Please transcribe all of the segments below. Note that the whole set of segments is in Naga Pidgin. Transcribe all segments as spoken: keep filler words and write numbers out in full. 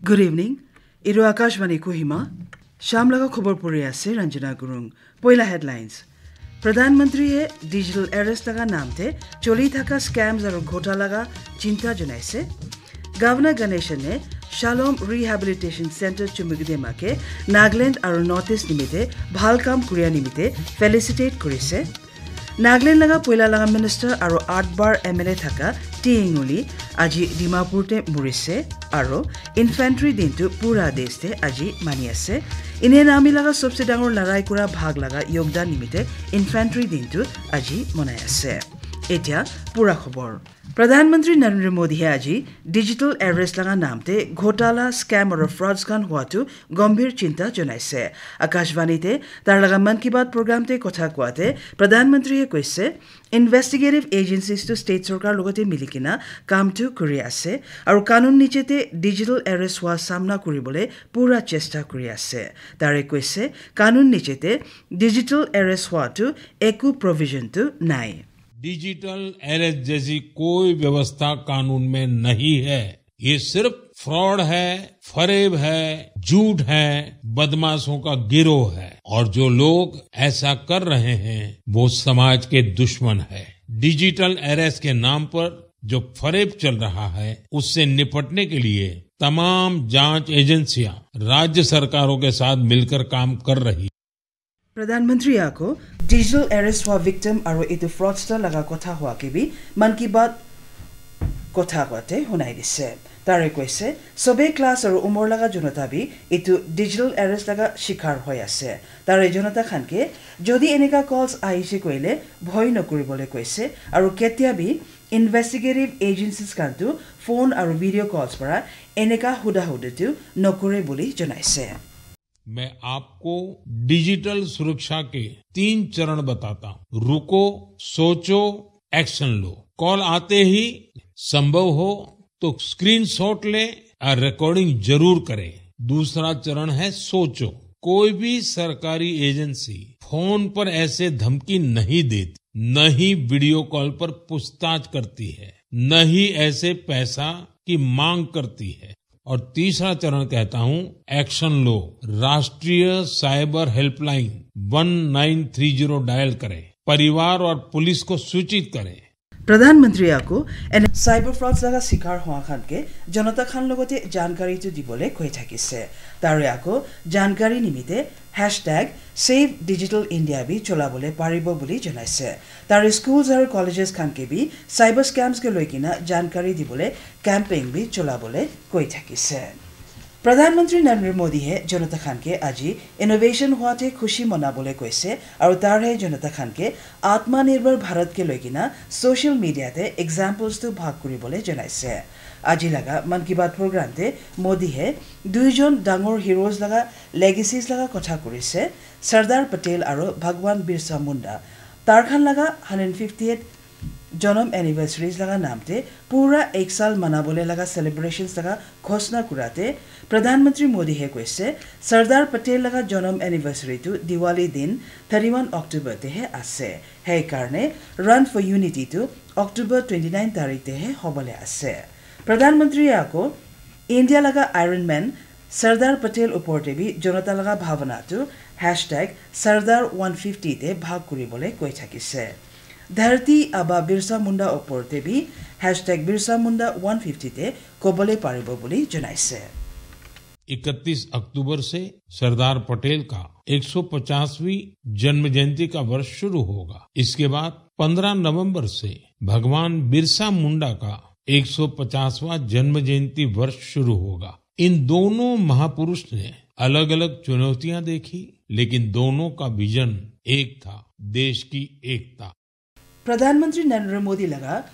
Good evening. Etu Akashvani Kohima. Sham laga khobor puri ase Ranjana Gurung. Poila headlines. Pradhan Mantri he digital arrest laga naam te choli thaka scams aru ghota laga chinta janaise. Governor Ganesan ne Shalom Rehabilitation Center Chumukidema ke Nagaland aru North East nimite bhal kam kuria nimite felicitate kurise. Nagaland laga poila laga minister aru aat bar M L A thaka T Inguli aji Dimapur te murise aru infantry din tu pura desh te aji mani ase. Ine nami laga sobse dangor larai kura bhag laga yogdan nimite infantry din tu aji manai ase. Etia pura khobor. Pradhan Mantri Narendra Modi he aji digital arrest laga naam te ghotala, scam aru frauds khan hua tu gambhir chinta janaise. Akashvani te tar laga Mann Ki Baat program te kotha koa te Pradhan Mantri he koise, investigative agencies tu state sorkar logote mili kena kam tu kuri ase aru kanun niche te digital arrest hua samna kuribole pura chesta kuri ase. Tare koise, kanun niche te digital arrest hua tu eku provision tu nai. डिजिटल अरेस्ट जैसी कोई व्यवस्था कानून में नहीं है। ये सिर्फ फ्रॉड है, फरेब है, झूठ है, बदमाशों का गिरोह है। और जो लोग ऐसा कर रहे हैं, वो समाज के दुश्मन है। डिजिटल अरेस्ट के नाम पर जो फरेब चल रहा है, उससे निपटने के लिए तमाम जांच एजेंसियां राज्य सरकारों के साथ मिलकर काम कर रही Pradhan Mantri ako digital arrest hua victim aru etu fraudster laga kotha hua ke bi Mann Ki Baat kotha koa te hunai dise. Tare koise, sobe class aru umor laga jonota bi etu digital arrest laga shikar hoi ase. Tare jonota khan ke jodi eneka calls ahise koile bhoi nokuribole koise aru ketia bi investigative agencies khan tu phone aru video calls para eneka huda huda tu nokure boli janaise. मैं आपको डिजिटल सुरक्षा के तीन चरण बताता हूँ। रुको, सोचो, एक्शन लो। कॉल आते ही संभव हो तो स्क्रीनशॉट ले और रिकॉर्डिंग जरूर करें। दूसरा चरण है सोचो। कोई भी सरकारी एजेंसी फोन पर ऐसे धमकी नहीं देती, न ही वीडियो कॉल पर पूछताछ करती है, न ही ऐसे पैसा की मांग करती है। और तीसरा चरण कहता हूं, एक्शन लो। राष्ट्रीय साइबर हेल्पलाइन वन नाइन थ्री जीरो डायल करें, परिवार और पुलिस को सूचित करें। Pradhan Mantri ako ene cyber frauds laga shikar hua khan ke jonota khan logote jankari tu dibole koi thakise. Tare ako jankari nimite hashtag Save Digital India bi cholabole paribo boli janaise. Tare schools aru colleges khan ke bi cyber scams ke loi kena jankari dibole campaign bi cholabole koi thakise. Pradhan Mantri Narendra Modi he jonota khan ke aji innovation hua te khushi manabole koise aru tar he jonota khan ke Atmanirbhar Bharat ke loi kena social media te examples tu bhag kuribole janaise. Aji laga Mann Ki Baat program te Modi he duijon dangor heroes laga legacies laga kotha kurise, Sardar Patel aru Bhagwan Birsa Munda. Tar khan laga hundred fiftieth janam anniversaries laga naam te pura ek saal manabole laga celebrations laga ghosna kurate Pradhan Mantri Modi he koise, Sardar Patel laga janam anniversary tu Diwali din thirty-one October te he ase. Hei karne Run for Unity tu October twenty-nine tarik te he hobole ase. Pradhan Mantri ako India laga Iron Man Sardar Patel upor te bi jonota laga bhavana tu hashtag Sardar one fifty te bhag kuribole koi thakise. Dharti Aba Birsa Munda upor te bi hashtag Birsa Munda one fifty te kobole paribo boli janaise. इकतीस अक्टूबर से सरदार पटेल का एक सौ पचासवीं जन्म जयंती का वर्ष शुरू होगा। इसके बाद पन्द्रह नवंबर से भगवान बिरसा मुंडा का एक सौ पचासवां जन्म जयंती वर्ष शुरू होगा। इन दोनों महापुरुष ने अलग-अलग चुनौतियां देखी, लेकिन दोनों का विजन एक था, देश की एकता। Pradhan Mantri Narendra Modi laga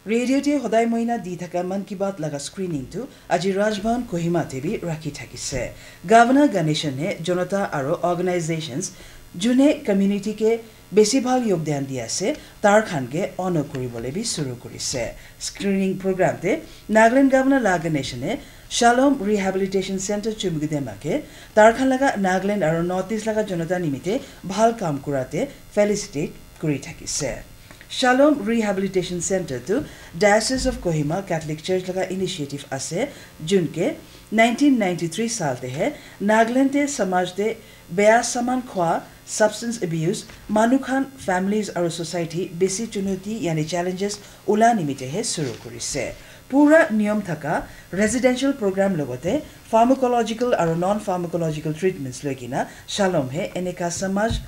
radio te hodai moina di thaka Mann Ki Baat laga screening tu aji Raj Bhavan Kohima te bi rakhi thakise. Governor Ganesan ne jonota aru organizations june community ke besi bhal yogdan di ase, tar khan ke honor kuribole bi suru kurise. Screening program te Nagaland Governor La Ganesan ne Shalom Rehabilitation Center Chumukidema ke tar khan laga Nagaland aru North East laga jonota nimite bhal kam kurate felicitate kuri thakise. Shalom Rehabilitation Center tu Diocese of Kohima Catholic Church laga initiative ase, junke nineteen ninety-three saal te he Nagaland te samaj te beya saman khwa, substance abuse, manu khan, families aru society besi chunoti yani challenges ula nimite he suru kurise. Pura niyom thaka residential program logote pharmacological aru non-pharmacological treatments loikena Shalom he eneka samaj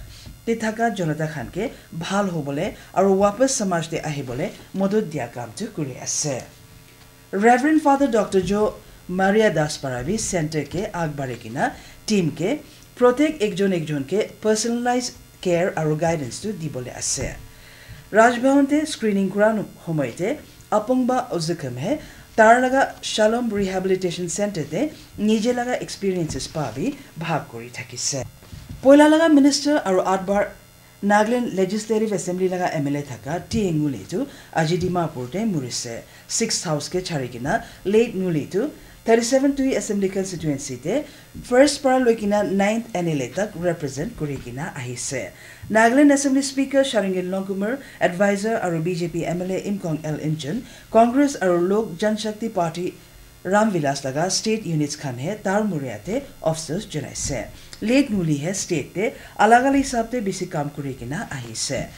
te thaka jonata khan ke bhal hobole aru wapas samaj te ahibole modot dia kam tu kuri ase. Reverend Father Doctor Jo Maria Das para bi center ke agbare kena team ke protek ekjon ekjon ke personalized care aru guidance tu dibole ase. Raj Bhavan te screening kura homoy te Apongba Ozukem he tar laga Shalom Rehabilitation Center te nije laga experiences pa bi bhag kuri thakise. Poila laga minister aru atbar Nagaland Legislative Assembly laga M L A thaka T A Nguli tu aji Dimapur te murise. Sixth House ke chari kena late Nguli tu thirty-seven Tui Assembly Constituency te first para loikena ninth N L A tak represent kuri kena ahise. Nagaland Assembly Speaker Sharingin Longkumer, advisor aru B J P M L A Imkong L Imchun, Congress aru Lok Janshakti Party Ram Vilas laga state units khan he tar muria te afsos janaise. Late Nguli he state te alag alag hisab te bisi kam kuri kena ahise.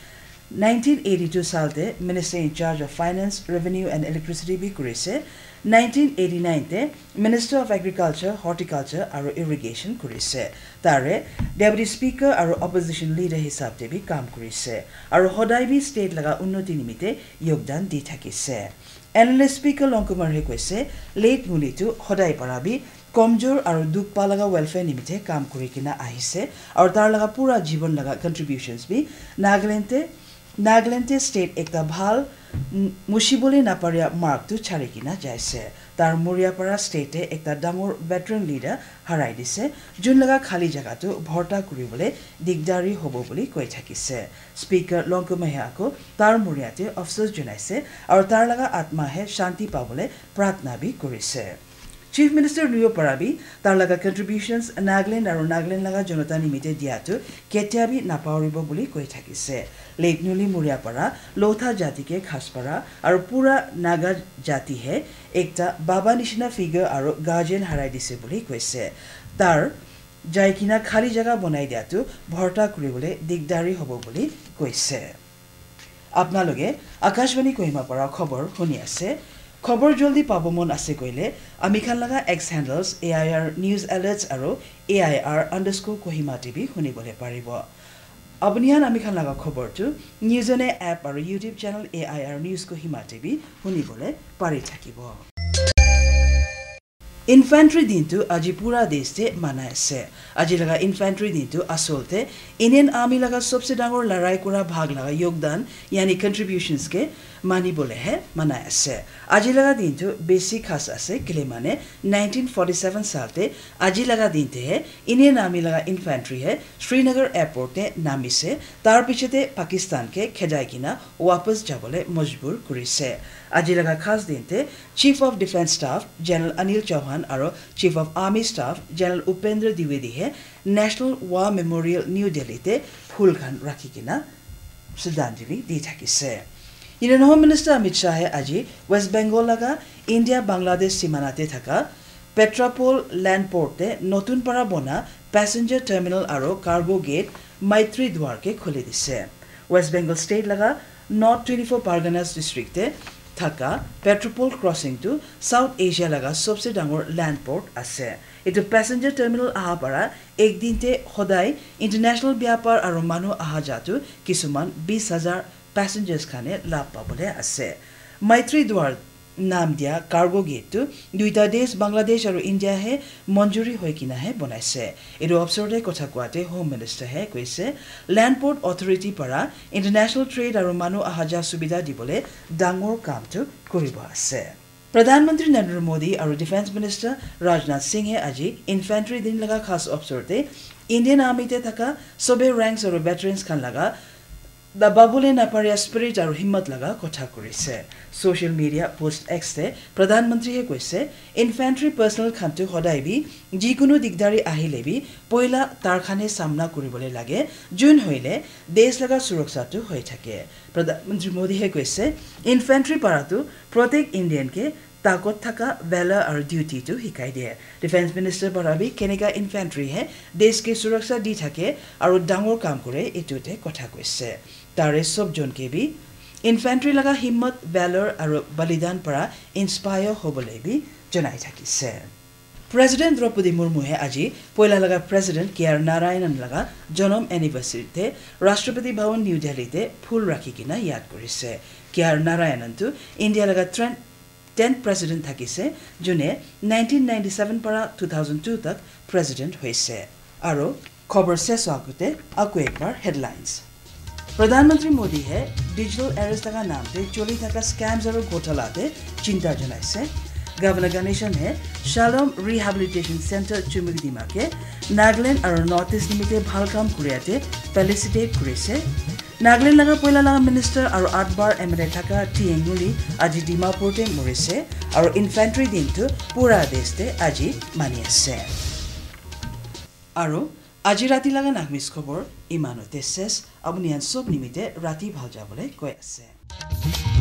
Nineteen eighty-two saal te Minister in charge of Finance, Revenue and Electricity bi kurise. Nineteen eighty-nine te Minister of Agriculture, Horticulture aru Irrigation kurise. Tare Deputy Speaker aru Opposition Leader hisab te bi kam kurise. Aru hodai bi state laga unnoti nimite yogdan di thakise. N L A Speaker Longkumer he koise, late Nguli tu hodai para bi komjor aru dukh pa laga welfare nimite kam kuri kena ahise, aru tar laga pura jibon laga contributions bi Nagaland te, Nagaland te state ekta bhal, mm, mushibole naparia mark tu chari kena jaise. Tar muria para state te ekta dangor veteran leader harai dise, jun laga khali jaga tu bhorta kuribole digdari hobo buli koi thakise. Speaker Longkumer he ako tar muria te afsos janaise, aru tar laga atma he shanti pabole pratna bi kurise. Chief Minister Luyo para bi tar laga contributions Nagaland aru Nagaland laga jonata nimite dia tu ketia bi napauribo buli koi thakise. Late Nguli muria para Lotha jati ke khas para aru pura Naga jati he ekta baba nishina figure aru guardian harai dise buli koise. Tar jai kena khali jaga bonai dia tu bhorta kuribole digdari hobo buli koise. Apnaloke Akashvani Kohima para khobor huni ase. Khobor joldi pabo mon ase koile, ami khan laga X handles A I R News Alerts aru A I R underscore Kohima te bi hunibole paribo. Apuni khan ami khan laga khobor tu News on Air app aru YouTube channel A I R News Kohima te bi hunibole pari thakibo. Infantry din tu aji pura desh te manai ase. Aji laga Infantry din tu asol te Indian Army laga sobse dangor larai kura bhag laga yogdan, yani contributions ke mani bole he manai ase. Aji laga din tu besi khas ase, kile mane nineteen forty-seven saal te aji laga din te he Indian Army laga Infantry he Srinagar Airport te namise, tar piche te Pakistan ke khedai kena wapas jabole majbur kurise. Aji laga khas din te Chief of Defence Staff General Anil Chauhan aru Chief of Army Staff General Upendra Dwivedi he National War Memorial New Delhi te phul khan rakhi kena shraddhanjali di thakise. Indian Home Minister Amit Shah he aji West Bengal laga India Bangladesh simana te thaka Petrapol Land Port te notun para bona passenger terminal aru cargo gate Maitri Dwar ke khuli dise. West Bengal state laga North twenty-four Parganas district te thaka Petrapol crossing tu South Asia laga sobse dangor land port ase. Etu passenger terminal aha para ek din te hodai international byapar aru manu aha ja tu kisuman bis hajar passengers khane lab pabole ase. Maitri Dwar nam dia cargo gate tu duita desh Bangladesh aru India he manjuri hoi kena he bonaise. Etu opsor te kotha koate Home Minister he koise, Land Port Authority para international trade aru manu aha ja subidha dibole dangor kam tu kuribo ase. Pradhan Mantri Narendra Modi aru Defence Minister Rajnath Singh he aji Infantry din laga khas opsor te Indian Army te thaka sobe ranks aru veterans khan laga Dababole naparia spirit aru himmat laga kotha kurise. Social media post X te Pradhan Mantri he koise, infantry personnel khan tu hodai bi jikunu digdari ahile bi poila tar khane samna kuribole lage, jun hoile desh laga suraksha tu hoi thake. Pradhan Mantri Modi he koise, infantry para tu protek Indian ke takot thaka valor aru duty tu hikai de. Defense Minister para bi keneka infantry he desh ke suraksha di thake aru dangor kam kore, etu te kotha koise. Tare sob jon ke bi infantry laga himmat, valor aru balidan para inspire hobole bi janai thakise. President Draupadi Murmu he aji poila laga President K R Narayanan laga janam anniversary te Rashtrapati Bhavan New Delhi te phul rakhi kena yad kurise. K R Narayanan tu India laga tren-, tenth President thakise, june nineteen ninety-seven para two thousand two tak President hoise. Aro khobor ses howa agute aku ekbar headlines. Pradhan Mantri Modi he digital arrest laga naam te choli thaka scams aru ghotala te chinta janaise. Governor Ganesan he Shalom Rehabilitation Center Chumukdima ke Nagaland aru North East nimite bhal kam kuria te felicitate kurise. Nagaland laga poila laga minister aru atbar M L A thaka T N Nguli aji Dimapur te morise aru infantry din tu pura desh te aji mani ase. Aru aji rati laga Nagamese khobor imanote ses, apuni khan sob nimite rati bhal jabole koi ase.